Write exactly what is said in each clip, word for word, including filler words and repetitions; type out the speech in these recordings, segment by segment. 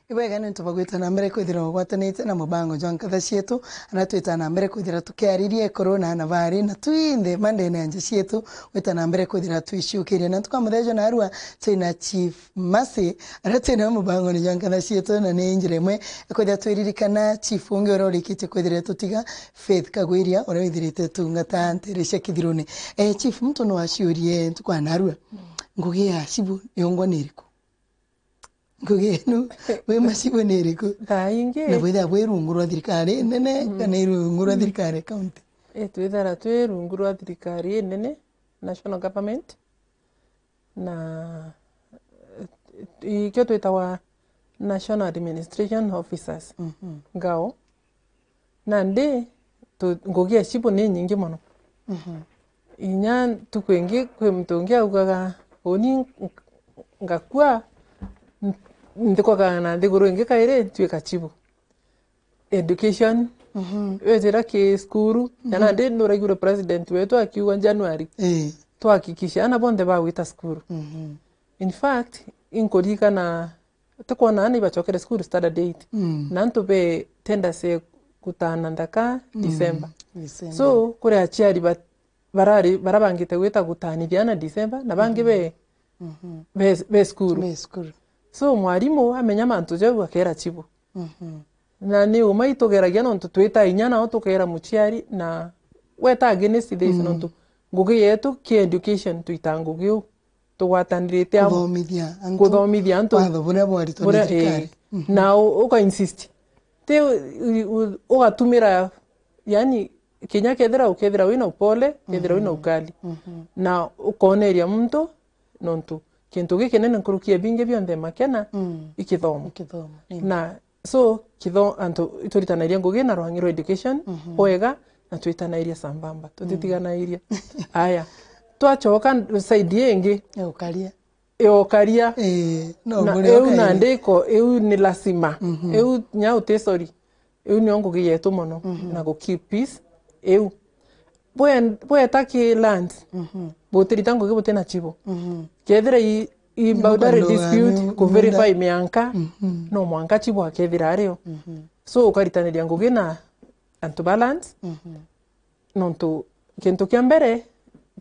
Ibwega ni untu bwa gwita na mbere kwithira ugwatanite na mubango jwa nkatha cietu, aria twita na mbere kwithira tukiariria ikoro na ana bari na twinthe mandene ya nja cietu, gwita na mbere kwithira twiciukiria. Na ntuku ya muthenya jwa narua twina Chief Mercy, aria twina mubangone jwa nkatha cietu, na ni njira imwe ikwithira twiririkana chief ungi uria urikitie kwithira tutiga, Faith Kagwiria, uria withirite tungata ntere cia Kithirune. Eh, chief, muntu no aciurie ntuku ya narua, ngugi ya chibu yongwa ni iriku? Ngugi yenu, wi macibu ni iriku? Thaa ingi. Na bwithira bwi rungu rwa thirikari nene, mm, kana i rungu rwa, mm, thirikari ya county? Eh, twithira twi rungu rwa thirikari inene, national government, na, eh, ikio twitawa National Administration Officers, mhm, ngao. Nandi, tu-, ngugi ya chibu ni nyingi mono. Mhm. Inya ntuku ingi kwi muntu ungi augaga, "Uni ng-, ngakua, n-, nthikwaga na nthiguru ingi kairi, ntuika chibu." Education, mhm, wejira ki cukuru, mhm, na nandi nuraigure president wetu akiuga January, ii, twahakikishe ana bonthe bagwita cukuru. Mhm. In fact, inkuririkana tukwona ana ibacokere cukuru standard eight. Mm. Na antu be tenders ya gutana nthaka, mm, December. December. So, kuri aciari ba-, barari, barabangite gwita gutanithia ana December, na bangi, mhm, be, mhm, be, be cukuru. Be cukuru. So, mwarimu amenya mantu jau akera chibu. Mhm. Na ni uma itugeragia nontu twita inya nao tukera muciari na weta against this, mm, nontu ngugi yetu ki education twita ngugi u. Tugwatanirite amwe. Kuthomithia antu. Kuthomithia antu. Watho buria bwaritwo ni, buria, thirikari. Ii. Mhm. Na u-, uka insist. Ti u-, u-, ugatumira, yani, kinya kethira ukethira wina upole, kethira wina, mhm, ukali. Mhm. Na ukoneria muntu, nontu kintu gikinene nkuruki ya bingi bionthe makena, mm, i kithomo. I kithomo, ii. Na So, kitho-, antu ituritanairia ngugi na rwangi rwa education, mhm, bwega, na twitanairia sambamba, tutitiganairia. Mhm. Aya, twachoka side ingi. Ya ukaria. Ya ukaria. Ii, no, na buri iu ukaria. Nandi iko, iu ni lazima. Mhm. Iu nya uti sorry. Iu nio ngugi yetu mono, mhm, na gu keep peace. Iu. Bwe-, bweta ki lands, mhm, butirita ngugi butina chibu. Mhm. Kethira i, i boundary dispute, ku verify mianka, mhm, no mwanka chibu akethira ario. Mhm. So, ukaritaniria ngugi na antu ba lands, mhm, nontu kintu kia mbere,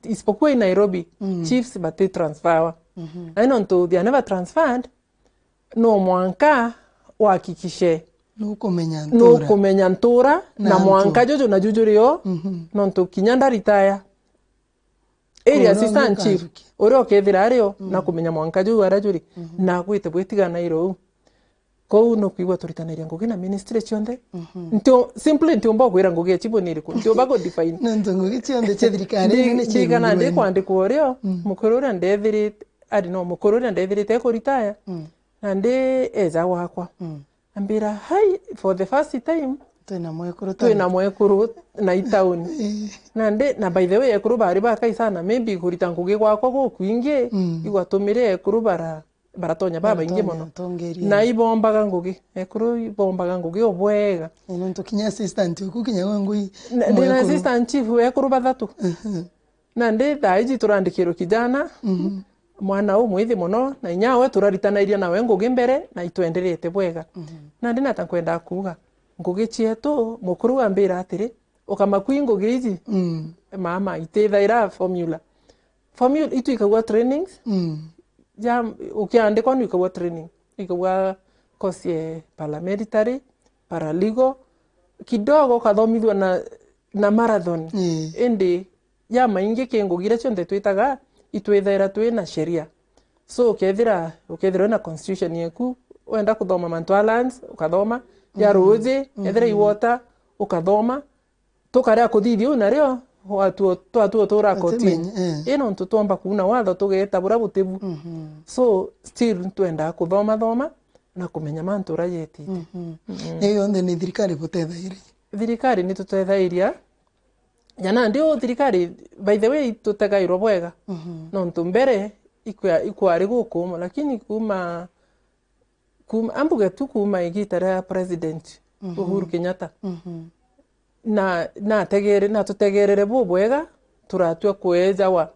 isipokuwa i Nairobi, mm, chiefs bati transferwa. Mhm. Na nontu they are never transferred, no mwanka uhakikishe nukumenya ntura. Nukumenya ntura na, na antu. Mwanka juju na juju rio, mhm, nontu kinya ndaritaya. Area assistant chief, uria ukethira ario, mm, na kumenya mwanka juju aria juri, mhm, na gwite bwitigana iro u. Kou no kwigua turitanairia ngugi na ministry cionthe. Mhm. Ntio, simply ntiumba kwira ngugi ya chibu ni iriku. Ntiumba ku define. Nontu ngugi cionthe cia thirikari nene ciigana ndi kwandikwa urio, mm, mukuru uria ndethirite, ari no mukuru uria ndethirite e kuritaya. Mm. Na ndi eja gwakwa. Mm. Ambira, "Hai, for the first time, twina mwekuru, twina mwekuru na i town." Eh. Na ndi, na by the way, ekuru bari bakai sana, maybe kurita ngugi gwakwa gukwingi, mm, igwatumire ekuru bara, baratonya babaingi mono. Baratonya utongeria. Na ibombaga ngugi, ekuru ibombaga ngugi o bwega. Eh, nontu kinya assistant uku kinya we ngui. Na, ndi na mwekuru. Assistant chief, ekuru bathatu. Mhm. Na ndi thaa iji turandikirwe kijana, mhm, mwana umwithi mono, na inya we turaritanairia nawe ngugi mbere, na itwenderete bwega. Mhm. Na ndi nata nkwenda kuuga, ngugi cietu, mukuru ambira atiri, "Ukamakui ngugi iji, mm, mama, itithaira formula." Formula, itwikagua trainings, mm, ja, ukiandikwa nwikagua training, ikagua course ya paramilitary, paralegal, kidogo ukathomithua na, na marathon. Mm. Indi ya maingi ki ngugi iria cionthe twitaga, itwithaira twi na sheria. So, ukethira, ukethira wina constitution yeku, wenda kuthoma mantu a lands, ukathoma, ya, mm, ruuji, mm, ethira i water, ukathoma, tukaria kuthithia u nario, watu, twatu utura kotini. Utimenya, eh. I nontu twomba kuuna watho tugeeta buria butibu. Mhm. So, still twendaa kuthoma thoma na kumenya mantu uria yetite. Mhm. Mm. Iyo yonthe ni thirikari butethairi? Thirikari ni tutethairia. Ja nandi u thirikari, by the way, tutegairwa bwega. Mhm. Nontu mbere ikwa-, ikwari gukuuma, lakini kuuma, kuuma, ambuge tu kuuma igita ria President, mhm, Uhuru Kenyatta. Mhm. Na, nategere-, natutegerere bubwega, turatua kwejawa.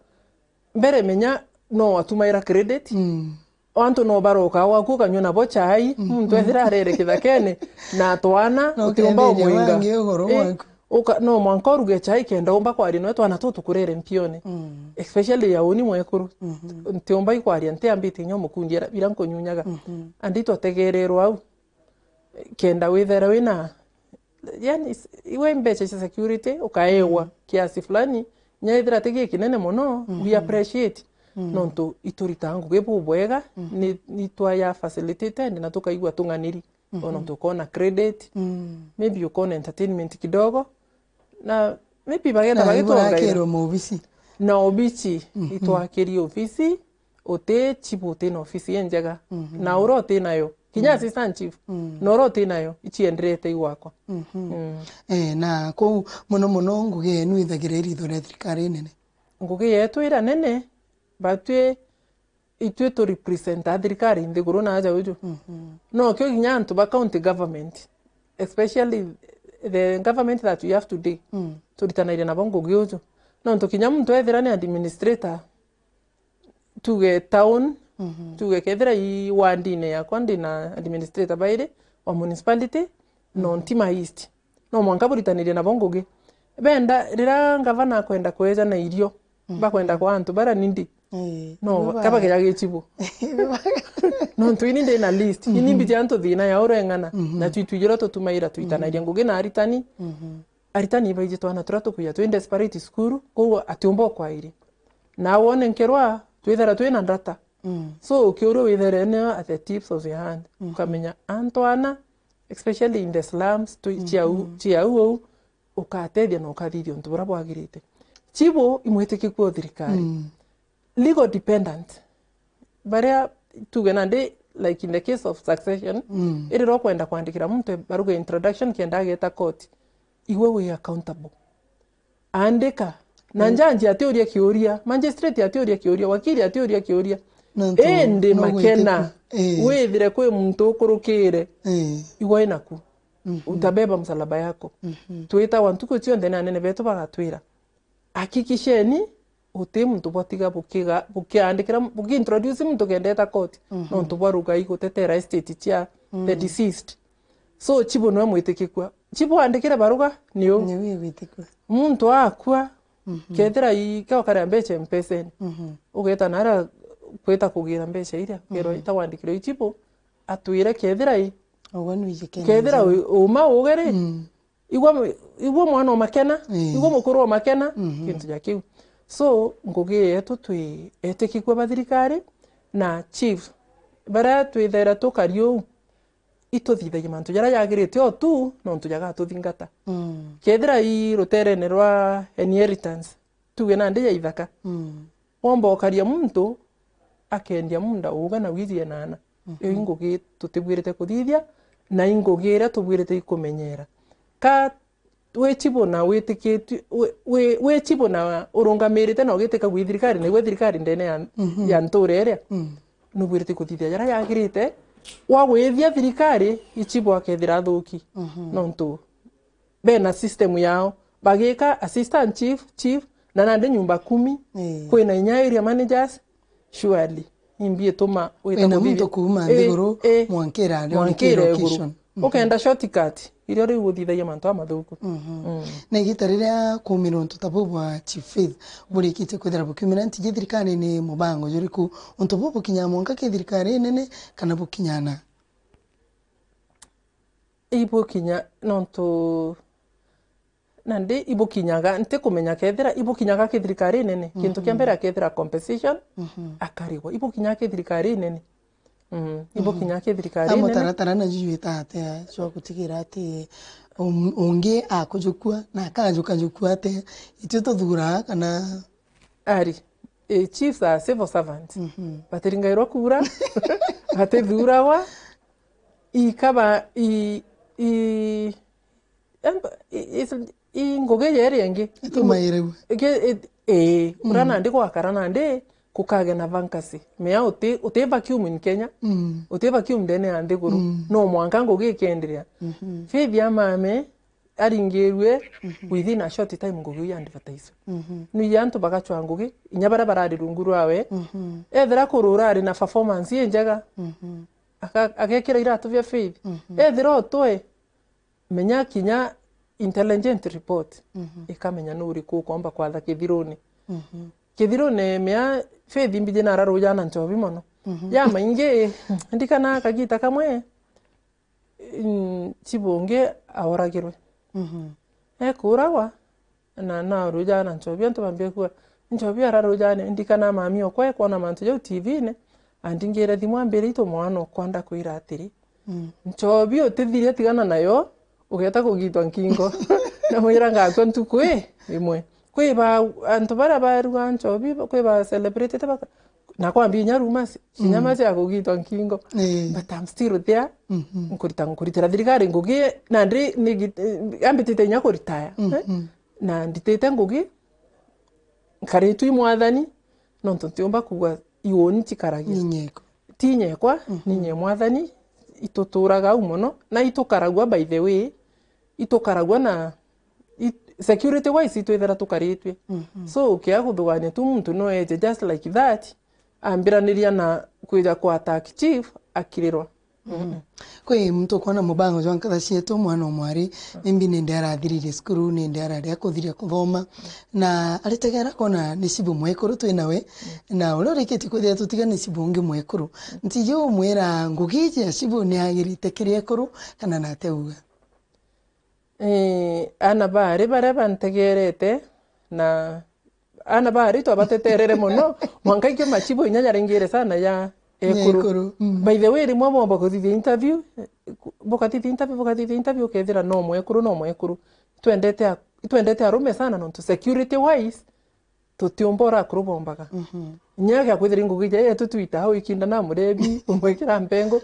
Mbere menya no watumaira credit. Mm. Antu no baroka gwaku ukanyua nabo chai, muntu ethira arere kithakene na twana, utiumba umwinga. Uka-, no mwanka uruge chai kenda umba kwaria nawe twana tutu kurere mpione. Especially ya uni mwekuru. Ntiumba ikwaria, ntiambite inya umukundi bira nkunyunyaga. Andi twategererwa au. Kenda withera wina, yani, s-, iwe mbeca cia security, ukaewa kiasi fulani, nya ethira ti gikinene mono, we appreciate. Nontu ituritaga ngugi bubwega, ni, ni twaya facilitated na tukaigua tung'aniri. Ona ntu ukona credit, maybe ukona entertainment kidogo, na maybe bagenda bagitwongera. Na obici, itwakirie ofisi, uti chief uti na ofisi injega. Na ura uti nayo, kinya assistant chief, na ura uti nayo, ichienderete igwakwa. Eh, na kuu mono mono ngugi yenu ithagira iritho ria thirikari inene? Ngugi yetu ira nene, batwi itwi tu represent a thirikari nthiguru na aja uju. No kio kinya antu ba county government, especially the government that we have today, turitanaire nabo ngugi uju. Nontu kinya muntu ethira ni administrator, tuge town, tuge kethira i wardine yakwa ndina administrator bairi wa municipality, no nti ma East. No mwanka buritanirie nabo ngugi. Benda, riria ngavana akwenda kweja na irio, bakwenda kwa antu bara nindi. No, kabageja gichibu. Nontu ini ndi na list. Ini mbiji antu thina ya ureng'ana. Na twi twijira tutumaira twitanagia ngugi na aritani. Aritani ibaiji twana turia tukuya twi desperate cukuru, koguo atiumba ukwairi. Na wone nkerwa, twithera twina data. So, ukiuria withere ne at the tips of your hand. Ukamenya antu ana, especially in the slums, tu-, cia u-, cia u ou, ukatethia na ukathithia untu buria bwagirite. Chibu imwitikikua o thirikari. Legal dependent. Baria, tuge nandi, like in the case of succession, irira ukwenda kwandikira muntu baruga introduction kenda ageta court, igwe wi accountable. Andika. Na njanji atiuria kiuria, magistrate atiuria kiuria, wakili atiuria kiuria. Indi makena, withire kwi muntu ukurukire, igwe inaku. Utabeba msalaba yako. Twitagwa ntuku cionthe ni anene betu bagatwira, hakikisheni uti muntu bwatiga bukiga-, bukiandikira, bukiintroduce muntu kendeta court, nontu bwa rugai gutetera estate cia the deceased. So, chibu niwe mwitikikua. Chibu andikire baruga, ni u. Ni u igwitikua. Muntu akua, kethira i, ke ukaria mbeca mpesene. Ugeta nara kwita kugira mbeca iria, kerwa itawandikire i chibu, atwire kethira i. Kethira u-, uma ugere, igwa, igwa mwana omakena, igwa mukuru omakena, kintu ja kiu. So, ngugi yetu twi etikikua ba thirikari na chief, baria twithera tukari uu, ituthithagia mantu jaria jagirite o tu, nontu jagatuthingata. Kethira i ruterene rwa inheritance, tuge nandi ya ithaka, womba ukaria muntu, akendia munda uga na wiiji enana. Iyo i ngugi tutibwirite kuthithia, na i ngugi iria tubwirite ikumenyera. Ka wi chibu na witikitue, wi, wi, wi chibu na urungamirite na ugitika gwi thirikari, na igwe thirikari ndene ya, ya ntura iria, nubwirite kuthithia jaria yagirite, wagwithia thirikari, i chibu akethira athuki. Nontu bena system yao. Bagika assistant chief, chief, na nandi nyumba kumi, kwina inya area managers, surely. Imbi ituma wita wina kuthithia muntu kuuma nthiguru, mwankira ari mwankira iguru. Ukenda shortcut, irio riu uthithagia mantu amathuku. Na igita riria kuumira untu ta buu bwa Chief Faith, burikitie kwithira bukiumira ntiji thirikarine, mubango juriku? Untu buu bukinyaa mwanka ki thirikari nene, kana bukinyana? Ibukinya, nontu nandi ibukinyaga, ntikumenya kethira ibukinyaga ki thirikari nene. Kintu kia mbere akethira compensation, akarigwa. Ibukinyaga ki thirikari nene. Mm, ibukinyaga ki thirikari nene. Amutaratara na juju ita atia jwa gutigira ati um-, ungi akujukua na akajukajukua atia? Itue tuthuraa kana Ari, eh, chiefs are civil servants. Batiringairwa kura, batithuragwa, ikaba, i, i, em-, i, is-, i ngugi jeri ingi. Itumairagua. Ge-, it-, eh, ura nandi gwakara nandi kukage na vacancy. Mea uti, uti vacuum in Kenya, uti vacuum ndene ya nthiguru. No mwanka ngugi ikenderea. Faith ya mame, aringirue, mhm, within a short time ngugi iu ya advertise. Mhm. Nui antu bagachwa ngugi, inya baria barari rungu rwawe. Mhm. Ethira kurura ari na performance injega, mhm, aka-, agekira iratu bia Faith. Mhm. Ethira utwe, menya kinya intelligent report, mhm, ikamenya nu uriku ukomba kwatha kithiruni. Mhm. Kithiruni mea Faith mbiji nararuja na nchobi mono. Mhm. Ya maingi, ndikana kagita kamwe, mm, chibu ungi aoragirwe. Mhm. Ekuragwa, na naruja na nchobi, antu bambia kuuga, nchobi ararujane, ndikana mami okwa ekwona mantu jau T V-ini, andingire thimu ambire itu mwana okwa ndakwira atiri, mm, nchobi utithiria tigana nayo, ugeta kugitwa nkingo. Namwira ngakua ntuku i imwe. Kwi ba, antu baria baruga nchobi, kwi ba celebrity te baka-, na kwambia inya rumors, cinya, mm, macia kugitwa nkingo. Ii. But I'm still there. Mhm. Nkurita, nkuritira thirikari ngugi, nandi ni gi-, eh, ambitite inya kuritaya, eh? Mhm. Na nditite ngugi, nkaritwe i mwathani, nontu ntiumba kuuga iuni cikaragia. Ni nyekwa. Ti nyekwa, mhm, ni nye mwathani, ituturaga au mono, na itukaragua by the way, itukaragua na i-, security wise itwithira tukaritue. Mhm. So, ukia kuthugania tu muntu no eje just like that, ambiraniria na kwija kwa attack chief, akirirwa. Mhm. Kwi muntu ukwona mubango jwa nkatha cietu, mwana o mwari, maybe nindi arathiririe cukuru, nindi arari akuthiria kuthoma, na aritegera kona ni cibu mwekuru twi nawe, na uria urikitie kwithira tutiga ni cibu ungi mwekuru. Ntiji umwira ngugi iji ya cibu ni agirite kiri ekuru, kana nate uga? Ii, ana baari baria bantegerete, na ana baari twabateterere mono, mwanka ikio machibu inya jaringire sana ya ekuru. Ekuru, mm. By the way, rimwe bwomba kuthithia interview, bukathithia interview, bukathithia interview, ukethira no mwekuru, no mwekuru. Twendete a-, twendete arume sana, nontu security wise, tutiumba uria akuru bombaga. Mhm. Inya gia kwithira ngugi ja yetu twita au ikinda na murebi, umwikira mpengo,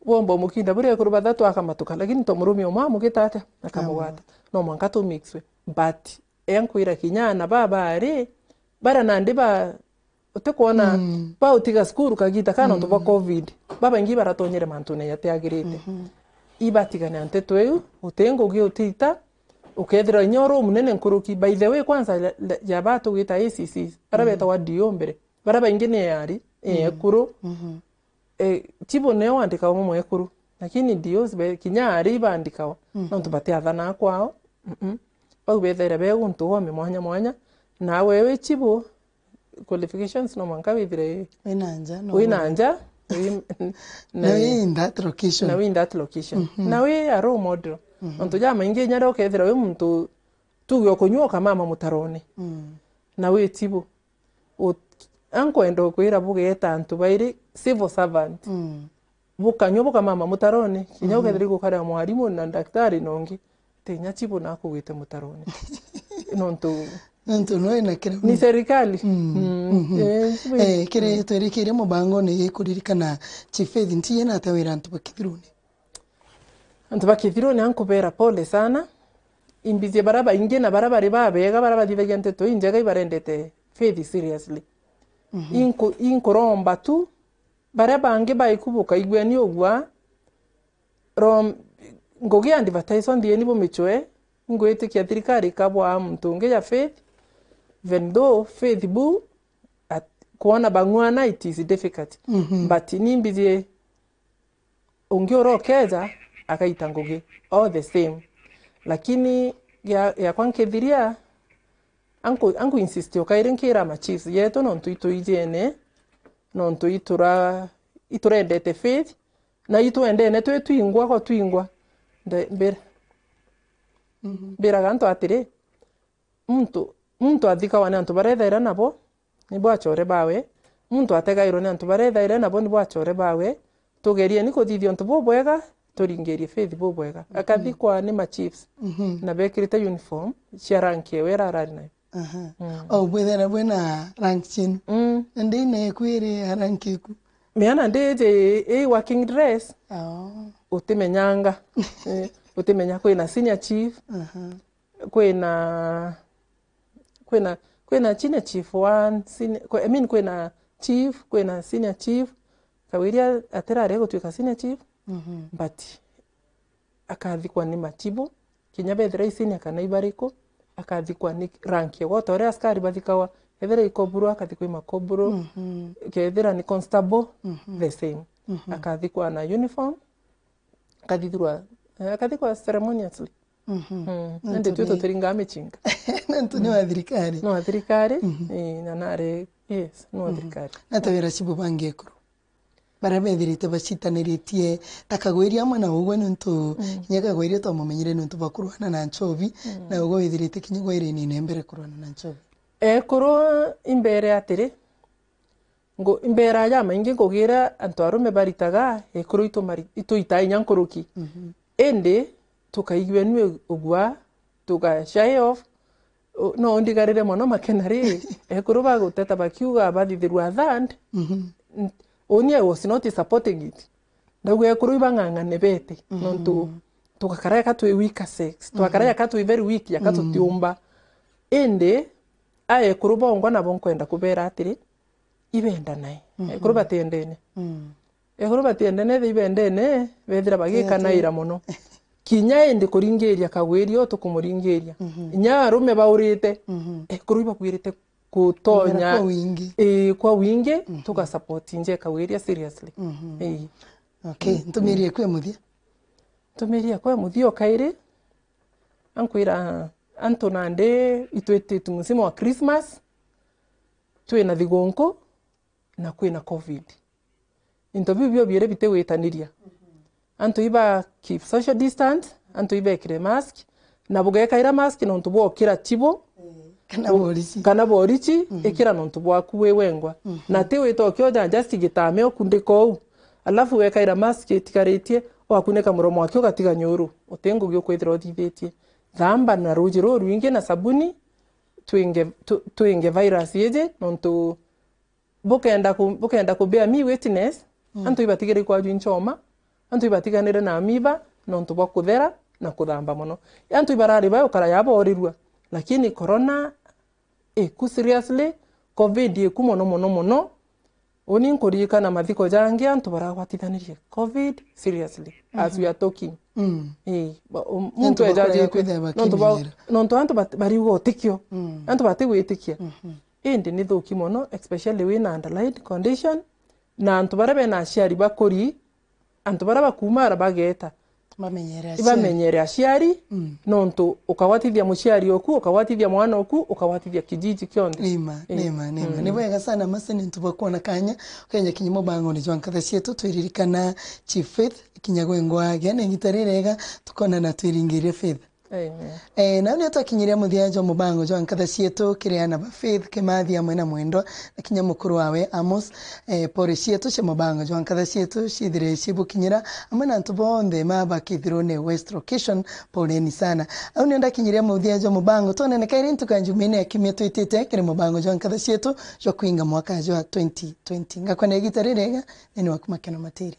bomba umukinda buria ekuru bathatu akamatuka, lakini to murume umwe amugita atia, akamugwata. Amugwata. No mwanka tu mixwe. But enkwira kinya ana baba ari, bara nandi ba, utikwona, mm, bautiga cukuru kagita ka nontu bwa, mm, covid, babaingi baratonyere mantune jatiagirite. Mhm. Ibatigane na nteto iu, uti ngugi utita, ukethirwa inya uri umunene nkuruki. By the way, kwanza, la, la, ja batugita A C Cs, bara, mhm, betagwa D O mbere, bara baingi ni ari, mm, ekuru. Mhm. Eh, chibu nio wandikawa mwekuru, lakini D Os be-, kinya ari ibandikawa, mm, nontu batiathana kwao. Mm-mm. Bau bethaira be guntu gome mwanya mwanya, nawe wi chibu, qualifications no mwanka withire wina nja, no wina nja, wi-, na, na wi in that location. Na wi in that location. Mhm. Na wi a role model. Mhm. Nontu jamaingi inya ria ukethira wi muntu tuge ukunyua ukamama mutarone. Mm. Na wi chibu. U-, ankwenda ukwira bugeta antu bairi civil servant. Mm. Bukanyua bukamama mutarone, kinya, mhm, ukethira gukaria mwarimu na daktari na ungi, tinya chibu nakugwite mutarone. Nontu, nontu no ina kira ni serikali. Mm. Mm. Mhm. Eh, chibu. Eh, kiri, mm, twirikirie mubangone gikuririkana Chief Faith, ntiye nate wira antu bakithirune? Antu ba Kithiruni ankubera pole sana. Imbizie bara baingi na bara bari babega, bara bathithagia nteto injega ibarendete Faith seriously. Mhm. Inku-, inkuromba tu, baria bangi baikubuka igweni ugwa, rom-, ngugi ya advertise nthieni bumichwe, ingwitikia thirikari ikabwaa muntu ungi ya Faith, even though Faith bu, at-, kwona bang'wana it is difficult. Mhm. But ni imbizie ungi uria ukeja, akaita ngugi all the same. Lakini gia-, giakwa nkithiria, anku-, anku insist o kairi nkira ma chiefs yetu, nontu itwijene, nontu itura-, iturendete Faith, na itwendene twi twingwa kwa twingwa. Nde-, mbir-, mhm, mbiraga antu atiri, muntu, muntu athikawa ni antu baria ethaira nabo, nibo achore bawe. Muntu ategairwe ni antu baria ethaira nabo, nibo achore bawe. Tugerieni kuthithia untu bubwega, turingirie Faith bubwega. Mhm. Akathikwa ni ma chiefs, mhm, na bekirite uniform cia rank ewe ira arari nayo. Aha. Mm. O bwethera bwina rank chenu. Mm. Nandi neku iri ya rank iku? Miana ndiji i working dress. Oh. Utimenyanga. Eh, utimenya kwina senior chief. Aha. Kwina, kwina, kwina senior chief one, senior, kwi-, I mean, kwina chief, kwina senior chief. Kawiria atirari gutwika senior chief, mhm, but akathikwa ni machibu, Kinya bethira i senior kana i bariku, akathikwa ni rank ya gwota uria askari bathikagwa. Kethira i koburu, akathikwa i makoburu. Mhm. Kethira ni constable, Mhm. the same. Mhm. Akathikwa na uniform, akathithirwa, eh, akathikwa ceremoniously. Mhm. Mm. Nontu Indi twi ni tutiringaa micinga. Nontu ni wa thirikari. No wa thirikari, Mhm. eh, na nari, yes, no wa Mhm. thirikari. Na ta wira cibu bangi ekuru? Baria bethirite bacitaniritie ta Kagwiri amwe na ugwe, nontu Mm. kinya Kagwiri twamumenyire nontu bwa kurwana na nchobi, Mm. na ugwe withirite kinya gwa irinine mbere kurwana na nchobi. Ekuru imbere atiri, ngu-, imbera jamaingi ngugi iria antu arume baritaga, ekuru itu mari-, ituitaa inya nkuruki. Mhm. Indi tukaigua nui ugua, tuka shy off, u-, no ndigarire mono makena ri, ekuru baguteta bakiuga bathithirwa third, Mhm. n-, uni I was not supporting it. Ndauga ekuru ibang'ang'ane bete, Mhm. nontu tugakara eka twi weaker sex, twakara Mhm. eka twi very weak, aka Mhm. tutiumba. Indi, a ekuru bongwa nabo nkwenda kubera atiri, ibendanae. Mhm. Ekuru batiendene. Mm. Ekuru batiendene, the ibendene, bethira bagikanaira mono. Kinya indi kuringiria Kagwiri o tukumuringiria. Mhm. Inya arume baurite, Mhm. ekuru ibakwirite kutonya Kumera kwa wingi. Ii, kwa wingi, Mhm. tuga support nje Kagwiri seriously. Mhm. Ii. Okay, Mm. ntumirie kwe muthia. Ntumirie kwe muthia o kairi, ankwira antu nandi itwititu musimo wa Christmas, twina thigunku, na kwina covid. Into biu bio biiri bitigwitaniria. Antu iba keep social distance, antu ibekire mask, na bugekaira mask nontu bwokira chibo, Kana borichi. kana borichi, Mhm. ikira nontu bwaku wi wengwa. Mhm. Na ti wita ukioja just gitame ukundika uu. Alafu wekaira mask itigaritie, wakunika muromo waki ugatiga nyuru. Uti ngugi ukwithira uthithitie. Thamba na ruuji ruu rwingi na sabuni, twinge, tu-, twinge virus iji, nontu bukenda ku-, bukenda ku bear me witness, Mm. antu ibatigire ikwajwi nchoma, antu ibatiganire na amiba, nontu bwa kuthera na kuthamba mono. Antu ibarari bayo kara yaborirua, lakini corona iku seriously, covid iku mono, mono, mono. Uni nkuririkana mathiko jangi antu baragwatithanirie covid seriously, as Mhm. we are talking. Mm. Ii, ba-, um, Ni muntu antu bakura ejajitwe, kwithira nontu ba-, bakimenyera. nontu antu bat-, bariuga utikio. Mm. Antu batigwitikia. Mhm. Indi ni thuki mono, especially wina underlying condition, na antu baria bena aciari bakuri, antu baria bakumara bageta. Bamenyere aciari. Ibamenyere aciari, Mm. nontu ukagwatithia muciari oku, ukagwatithia mwana oku, ukagwatithia kijiji kionthe. Nima, Ii. nima, nima. Mm. Ni bwega sana, Mercy, ni ntu bwa kwona kanya, ukenya kinya mubangoni jwa nkatha cietu, twiririkana Chief Faith, kinya gwengwa agia, na igita rirega, tukonana twiringirie Faith. Amen. Eh, nau nio twakinyiria muthia jwa mubango jwa nkatha cietu, kiri ana ba Faith, Kimathi amwe na Mwendwa, na kinya mukuru wawe Amos. Eh, pore cietu cia mubango jwa nkatha cietu ciithire cibukinyira, amwe na antu bonthe ma bakithirwo ni West Location, poleni sana. Au nio ndakinyiria muthia jwa mubango, twonene kairi ntuku ya Jumaine ya kiumia twitite, kiri mubango jwa nkatha cietu jwa kwinga mwaka jwa twenty twenty. Ngakwenda igita ririega, nini waku Makeno Matiri.